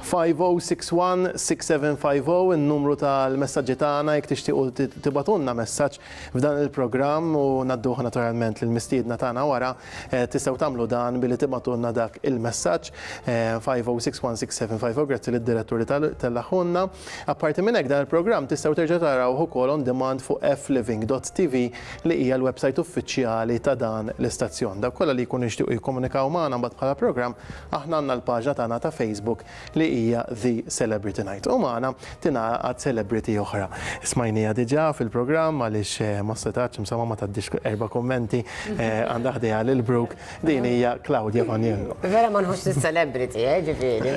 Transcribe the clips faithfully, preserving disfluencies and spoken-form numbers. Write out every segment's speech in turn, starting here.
five oh six one six seven five oh il-numru tal-messaġġi tagħna jekk tixtiequ tibagħtulna messaġġ f'dan il-programm u ngħadduh naturalment lill-mistiedna tagħna wara, eh, tistgħu tagħmlu dan billi tibagħtulna dak il-messaġġ eh, five oh six one six seven five oh. Grazzi lid-diretturi tellagħhulna. Apparti minn hekk, dan il-programm tistgħu terġa' tarawh ukoll on demand fuq fliving dot T V li hija l-website uffiċjali ta' dan l-istazzjon. Dawk kollha li jkunu jixtiequ jikkomunikaw magħna mbagħad bħala programm, aħna għandna l-paġna tagħna ta' Facebook li hija The Celebrity Night. U magħna tingħaqad celebrity oħra. Smajnieha diġà fil-programm għaliex eh, ma setax insomma ma tgħaddix erba' kummenti, eh, għandha ħdejha lil Brooke. Din hija Claudia Faniello. Vera ma nħoss celebrity, eh, ġifieri.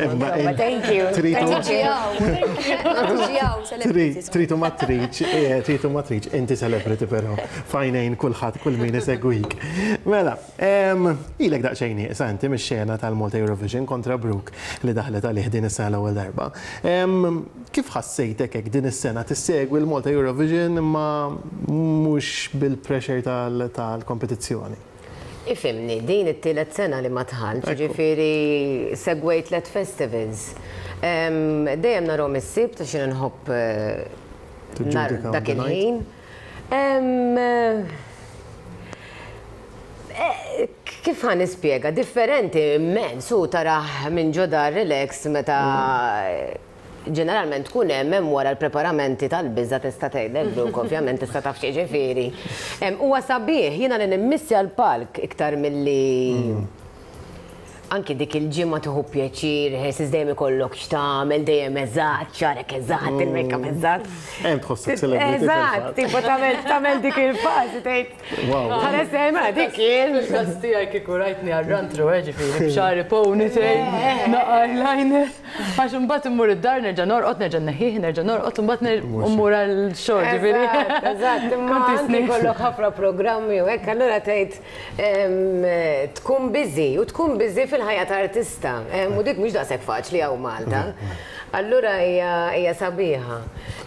Thank you. Tritu ma triċ, eh, tritu ma triċ, inti celebrity però, f'għajnejn kulħadd, kull min isegwik. Mela, ilek daqsxejn nieqsa inti mix-xena tal-Malta Eurovision kontra Brooke li daħlet għalih din is-sena l-ewwel darba. Kif ħassejtek hekk din is-sena tissegwi l-Malta Eurovision imma mhux bil-pressure tal-kompetizzjoni? Ifhimni, din it-tielet sena li ma dħaltx, ġifieri segwejt tliet festivals. Dejjem narahom is-Sibt għax nħobb eh, dak il-ħin. Eh, kif ħa nispjega? Differenti immens, u tarah minn ġo dar relax meta ġeneralment tkun hemm hemm wara l-preparamenti tal-biża tista' tgħidlek Brooke, ovvjament tista' taf xi ġifieri. Huwa sabiħ jiena li nimmissja l-palk iktar milli anki dik il-ġimgħa tieħu pjaċir, ħessis dejjem ikollok x'tagħmel, dejjem eżatt, xagħrek eżatt, il-makeup eżatt. Hemm tħossok celebrity. Eżatt, tipo tagħmel tagħmel dik il-fażi tgħid. Wow. Ħares ma dik kien. Fil-każ tiegħi kieku rajtni għar-run-through, eh, ġifieri, b'xagħri ponytail, naqra eyeliner. Għax imbagħad immur id-dar, nerġa' norqod, nerġa' neħħih, nerġa' norqod, imbagħad mmur għal-xogħol, ġifieri. Eżatt, eżatt, imma Kont anki isni. jkollok ħafna programmi u hekk, allura tgħid em, tkun busy u tkun busy fil-ħajja ta' artista. Em, U dik mhux daqshekk faċli hawn Malta. Allura hija hija sabiħa.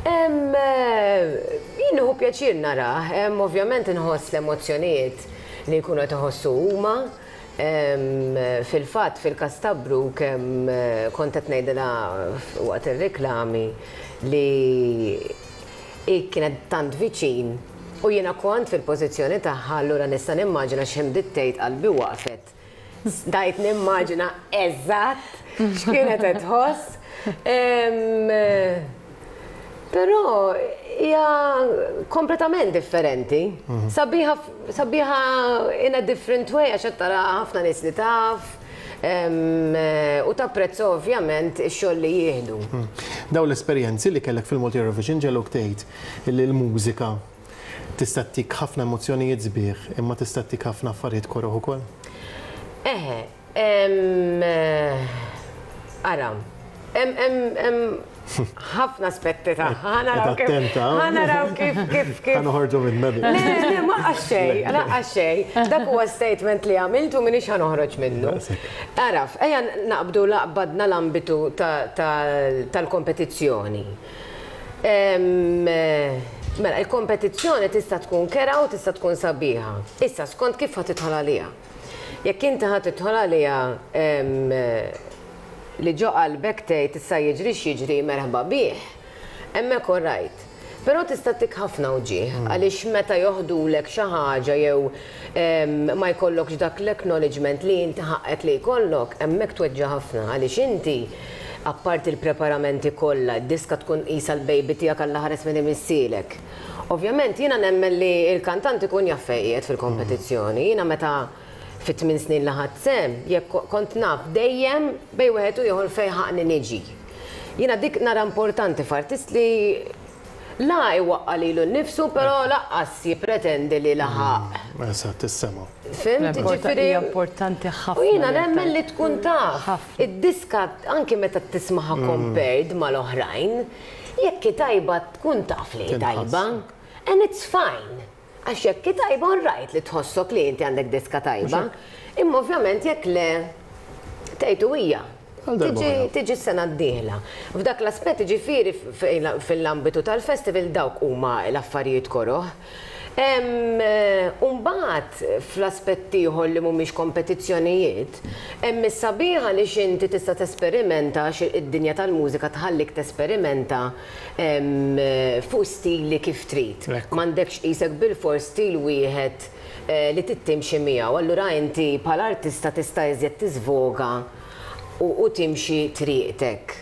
Em, eh, Jien nieħu pjaċir narah, em, ovvjament inħoss l-emozzjonijiet li jkunu qed iħossu huma. Em, Fil-fatt, fil-każ ta' Brooke kemm kont qed ngħidilha waqt ir-reklami li i kienet tant viċin u jiena kont fil-pożizzjoni tagħha, allura nista' nimmaġina x'hemm tgħid, qalbi waqfet. Stajt nimmaġina eżatt x'kienet qed tħoss. Em, Però hija kompletament differenti. Sabiħa sabiħa in a different way għax qed tara ħafna nies li taf em, u tapprezza ovvjament ix-xogħol li jieħdu. Daw l-esperjenzi li kellek fil-Malta Eurovision ġegħluk tgħid li l-mużika tista' ttik ħafna emozzjonijiet sbieħ imma tista' ttik ħafna affarijiet koroh ukoll? Eħe, em, eh, ara, em, em, em, ħafna aspetti ta' ħa naraw kif, Attenta. ħa naraw kif, kif, kif. Ħa noħorġu minn Le, le, ma xej, laqqa xej. Dak huwa statement li għamiltu, minix ħa noħroġ minnu. Daqshekk. Araf, ejja naqbdu laqbadna l-ambitu ta- ta- tal-kompetizzjoni. Em, eh, Mela, il-kompetizzjoni tista' tkun kerha u tista' tkun sabiħa. Issa, skont kif ħa tidħol għaliha. Jekk inti ħa tidħol għaliha em, li ġo qalbek tgħid issa jiġri x'jiġri merħba bih, hemmhekk all right. Però tista' ttik ħafna uġigħ, għaliex meta joħdulek xi ħaġa jew em, ma jkollokx dak l-acknowledgement li inti ħaqqek li jkollok, hemmhekk tweġġa' ħafna għaliex inti apparti il-preparamenti kollha, id-diska tkun qisha l-baby tiegħek alla ħares minn imissielek. Ovvjament jiena nemmen li il-kantant ikun jaf fejn qiegħed fil-kompetizzjoni. Jiena meta fit-tmien snin li ħadt sehem, jekk kont naf dejjem bejn wieħed u ieħor fejn ħaqni niġi. Jiena dik nara importanti f'artist li la iwaqqa lilu nnifsu, però lanqas jippretendi li laħaq. Eżatt, is-sema. Fhimt? Ġifieri. Hija importanti ħafna. U jiena nemmen li tkun taf. Ħafna. Id-diska anki meta tismaha compared mal-oħrajn, jekk hi tajba tkun taf li hi Tinħass. tajba. And it's fine. Għax jekk hi tajba, all right li tħossok li inti għandek diska tajba. Imma ovvjament jekk le, tgħidu hija. Għal darba Tiġi oħra. tiġi s-sena d-dieħla. F'dak l-aspett ġifieri fil-ambitu tal-festival dawk huma l-affarijiet koroh. Umbagħad fl-aspett ieħor li mhumiex kompetizzjonijiet, hemm is-sabiħa li x'inti tista' tesperimenta, għax id-dinja tal-mużika tħallik tesperimenta em, fuq stili kif trid. Ekku. M'għandekx qisek bilfors stil wieħed eh, li tittimxi miegħu. Allura inti bħala artista tista' iżjed tiżvoga u, u timxi triqtek.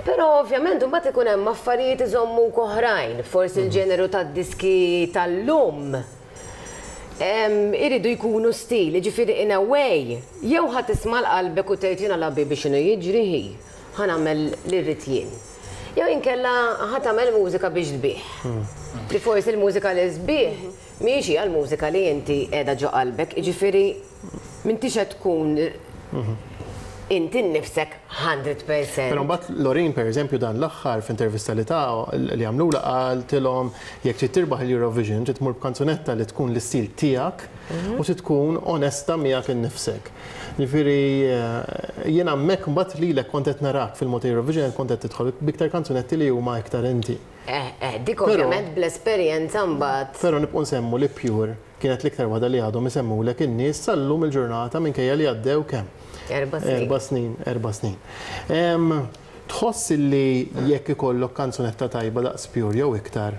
Però ovvjament mbagħad ikun hemm affarijiet iżommuk oħrajn, forsi l-ġeneru tad-diski tal-lum em, iridu jkunu stil, ġifieri in a way, jew ħa tisma' l-qalbek u tgħid jiena labi biex inhu jiġri hi, ħa nagħmel li rrid jien. Jew inkella ħa tagħmel mużika biex tbigħ. Li forsi l-mużika li tbigħ mhijiex hija l-mużika li inti qiegħda ġo qalbek, jiġifieri m'intix qed tkun inti nnifsek mija fil-mija. Però mbagħad Loreen, per eżempju, dan l-aħħar f'intervista li ta' li għamlula qaltilhom jekk trid tirbaħ il-Eurovision trid tmur b'kanzunetta li tkun l-istil tiegħek u trid tkun onesta miegħek innifsek. Ġifieri eh, jiena hemmhekk mbagħad lilek kont qed narak fil-mod Eurovision, kont qed tidħol b'iktar kanzunetti li huma iktar inti. Eh, eh, dik Però- ovvjament bl-esperjenza mbagħad. Però nibqgħu nsemmu li Pure kienet l-iktar waħda li għadhom isemmulek in-nies sal-lum il-ġurnata, minkejja li għaddew kemm? Erba' snin. Erba' snin, erba' snin. Em, Tħoss li jekk ikollok kanzunetta tajba daqs Pure jew iktar,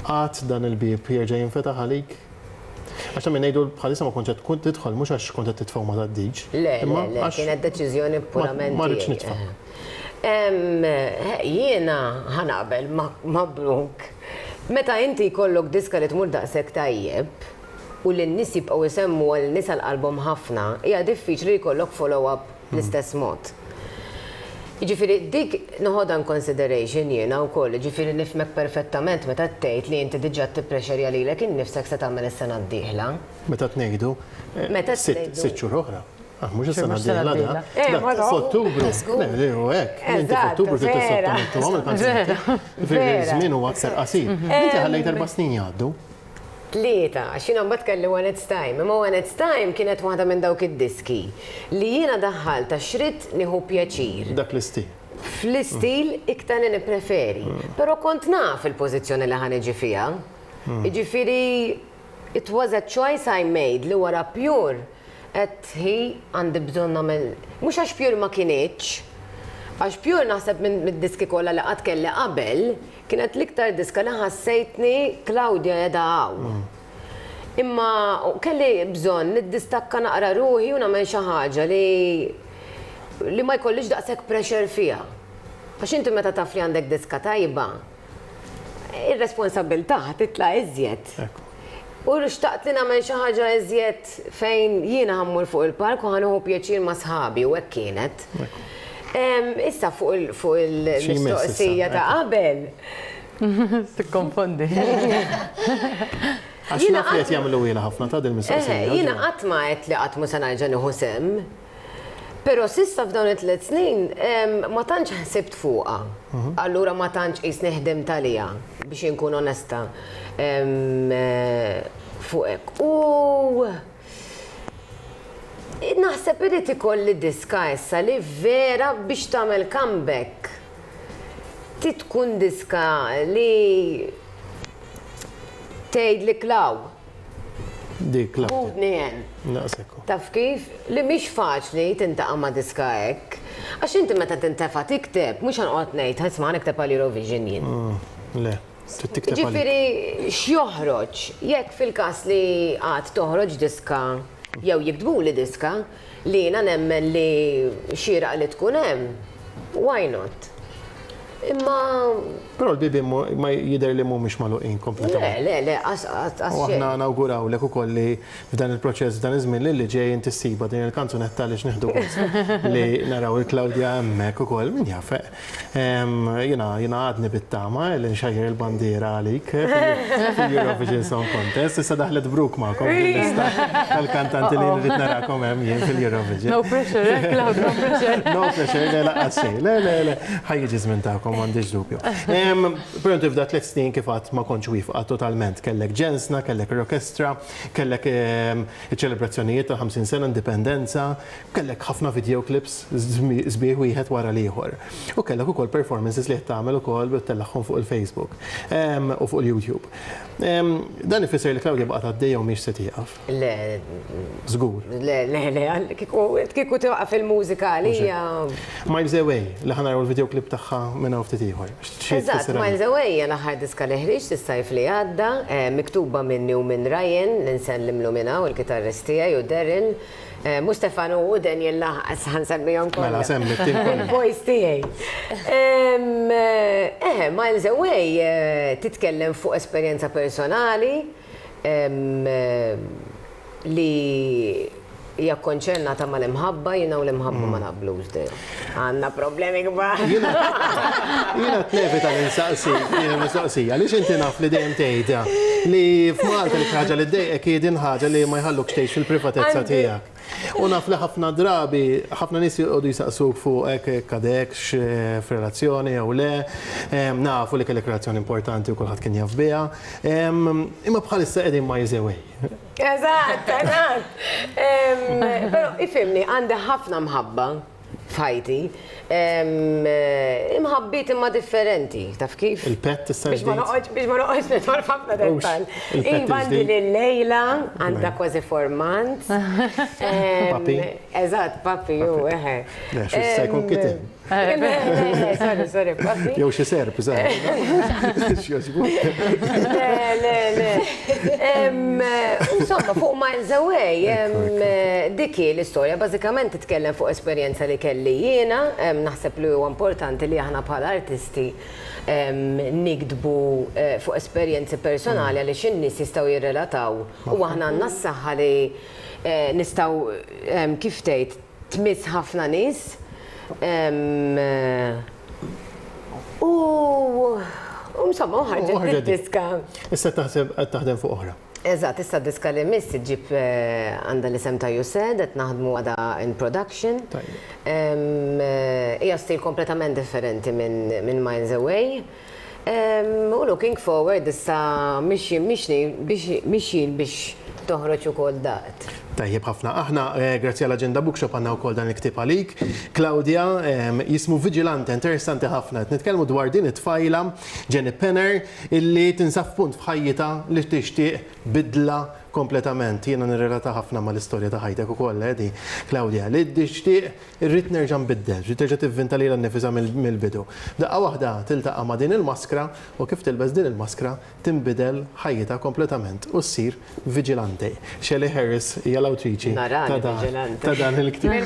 għad dan il-bib jerġa' jinfetaħ għalik? Għax ta' min ngħidu, bħalissa ma kontx tkun tidħol mhux għax kont qed titfgħu ma tgħaddix. Le, le, imma le, għax kienet deċiżjoni purament ma rridx tiegħi. nitfa'. Em, Jiena ħa naqbel ma' ma' Brooke. Meta inti jkollok diska li tmur daqshekk tajjeb u li n-nies jibqgħu jsemmu għal nies għal qalbhom ħafna, hija diffiċli jkollok follow-up bl-istess mod. Jiġifieri dik noħodha in consideration jiena wkoll, jiġifieri nifhmek perfettament meta tgħid li inti diġà tipprexerja lilek innifsek se tagħmel is-sena d-dieħla. Meta tnejdu, eh, Meta sitt tnejdu. sitt xhur oħra. Ah, mhux is-sena Mhux sena d-dieħla da. d-dieħla. Eh, Da, ma no. f'Ottubru. Le, le, u hekk. Inti Eżatt, f'Ottubru trid vera. tissottomettuhom il-kanzunetti. Ġifieri Vera. Żmien huwa aktar qasir. Inti ħallejt erba' snin jgħaddu. Tlieta, għax jiena mbagħad kelli When It's Time, imma When It's Time kienet waħda minn dawk id-diski li jiena daħħalt għax ridt nieħu pjaċir Dak l-istil. fl-istil iktar li nippreferi. Però kont naf il-pożizzjoni li ħa niġi fiha. Jiġifieri it was a choice I made li wara Pure għedt hi għandi bżonn nagħmel, mhux għax Pure ma kinitx, għax Pure naħseb minn mid-diski kollha li qatt kelli qabel, kienet l-iktar diska li ħassejtni Claudia qiegħda hawn. Imma kelli bżonn niddistakka naqra ruħi u nagħmel xi ħaġa li li ma jkollix daqshekk pressure fiha. Għax inti meta taf li għandek diska tajba, ir-responsabilità titla' iżjed. Ekku. U xtaqt li nagħmel xi ħaġa iżjed fejn jiena ħa mmur fuq il-palk u ħa nieħu pjaċir ma' sħabi, u hekk kienet. Em, Issa fuq il- fuq Xi jmiss il-mistoqsija issa, ta' qabel. Tikkonfondi. Għax Jiena naf li qed jagħmlu ilha ħafna ta' din Eh, mistoqsija. Jiena qatt ma għedt li qatt mu se nerġa' nieħu sehem. Però s'issa f'dawn it-tliet snin em, ma tantx ħsibt fuqha. Allura ma tantx qis neħdem talija biex inkun onesta em, eh, fuq hekk. U naħseb irid ikolli diska issa li vera biex tagħmel comeback. Ti tkun diska li tgħid li klaw, Dik la. ħudni hemm. Naqsekku. Taf kif? Li mhix faċli tintaqa' ma' diska hekk. Għax inti meta tintefa' tikteb, mhux ħanqod ngħid, "Isma', nikteb għal Eurovision jien." Le, trid tikteb għalik. Ġifieri x'joħroġ? Jekk fil-każ li għad toħroġ diska jew jiktbuli diska li jiena nemmen li xieraq li tkun hemm, why not? Imma Però l-bibi mu- ma jidher li mhumiex magħluqin le, kompletament. le, le, qas qas qas U xejn. aħna nawgurawlek ukoll li f'dan il-proċess, f'dan iż-żmien li li ġej, inti ssiba din il-kanzunetta li x'nieħdu gost li naraw il-Claudia hemmhekk ukoll, min jaf. Em, Jiena jiena għadni bit-tama li nxajjer il-bandiera għalik eh, fil- fil-Eurovision Song Contest. Issa daħlet Brooke magħkom fil-lista tal-kantanti li nrid narakom hemm jien fil-Eurovision. No pressure, eh, Claude, no pressure. No pressure, le, lanqas xejn. Le, le, le. Ħa jiġi żmien tagħkom. m'għandix dubju. Però inti f'da tliet snin kif għad ma kontx wieqfa totalment. Kellek Ġensna, kellek l-orkestra, kellek iċ-ċelebrazzjonijiet ta' ħamsin sena indipendenza, kellek ħafna videoclips sbieħ wieħed wara l-ieħor. U kellek ukoll performances li qed tagħmel ukoll tellagħhom fuq il-Facebook u fuq il-YouTube. Dan ifisser li Claudia baqgħet għaddejja u mhix se tieqaf. Le. Żgur. Le, le, le, kieku tieqaf il-mużika għalija. Miles Away, li ħa naraw il-videoclip tagħha minn hawn ftit ieħor. Eżatt, Miles Away hija l-aħħar diska li ħriġt is-sajf li għadda, miktuba minni u minn Ryan, li nsellimlu minn hawn, il-kitarrist tiegħi, u Daryl. Mhux Stefano u Daniel laħqas ħa nsemmihom kollha. Mela semmi t-tim kollu. Il-boys tiegħi. Eh, Miles Away titkellem fuq esperjenza personali li hija konċernata mal-imħabba, jiena u l-imħabba ma naqblux dejjem. Għandna problemi kbar. Jiena t-nevita l-insaqsi, jiena mistoqsija, għaliex inti naf li dejjem tgħidha li f'Malta li ħaġa li ddejqek hi din ħaġa li ma jħallukx tgħix fil-privatezza tiegħek. U naf li ħafna drabi, ħafna nies joqogħdu jisaqsuk fuq hekk kadekx f'relazzjoni jew le, nafu li kellek relazzjoni importanti u kulħadd kien jaf biha. Imma bħalissa qegħdin Miles Away. Eżatt, eżatt. Però ifhimni, għandi ħafna mħabba f'ħajti. Imħabbiet imma differenti, taf kif? Il-pet issa Biex ma noqgħodx biex ma noqgħodx nidħol f'ħafna dettall. Iva, għandi lil Lejla, għandha kważi four months. Papi. Eżatt, papi, ju, eħe. Le, xi se jkun kitten. Sorry, sorry, papi. Jew xi serp, żgħar. Le, le, le. Insomma, fuq Miles Away, dik hi l-istorja, bażikament titkellem fuq esperjenza li kelli jiena, naħseb li huwa importanti li aħna bħala artisti nikdbu fuq esperjenzi personali għaliex in-nies jistgħu jirrelataw u aħna għandna s-saħħa li nistgħu, kif tgħid, tmiss ħafna nies. U insomma, ħarġet id-diska. Issa taħseb qed taħdem fuq oħra. Eżatt, issa d-diska li miss ġib għandha l-isem ta' You Said, qed naħdmu għadha in production. Hija stil kompletament differenti minn Miles Away. U looking forward issa mixjin mixjin biex toħroġ ukoll daqt. Tajjeb ħafna. Aħna grazzi għall Agenda Bookshop għandna wkoll dan il-ktieb għalik. Claudia, jismu Vigilante, interessanti ħafna. Qed nitkellmu dwar din it-tfajla Jenny Penner illi tinsab punt f'ħajjitha li tixtieq bidla kompletament. Jiena nirrelata ħafna mal-istorja ta' ħajtek ukoll, di Claudia, li tixtieq irrid nerġa' nbiddel, trid terġa' tivvinta lilha nnifisha mill-bidu. Daqqa waħda tiltaqa' ma' din il-maskra u kif tilbes din il-maskra tinbidel ħajjitha kompletament u ssir Vigilante. Shelley Harris hija l-awtriċi ta' dan il-ktieb.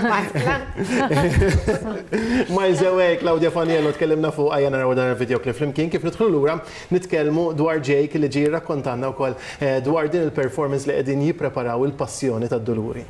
Miles Away, Claudia Faniello, tkellimna fuq ejja naraw dan il-videoclip flimkien kif nidħlu lura nitkellmu dwar Jake li ġie jirrakkontanna wkoll dwar din il-performance li qegħdin jippreparaw il-passjoni tad-Duluri.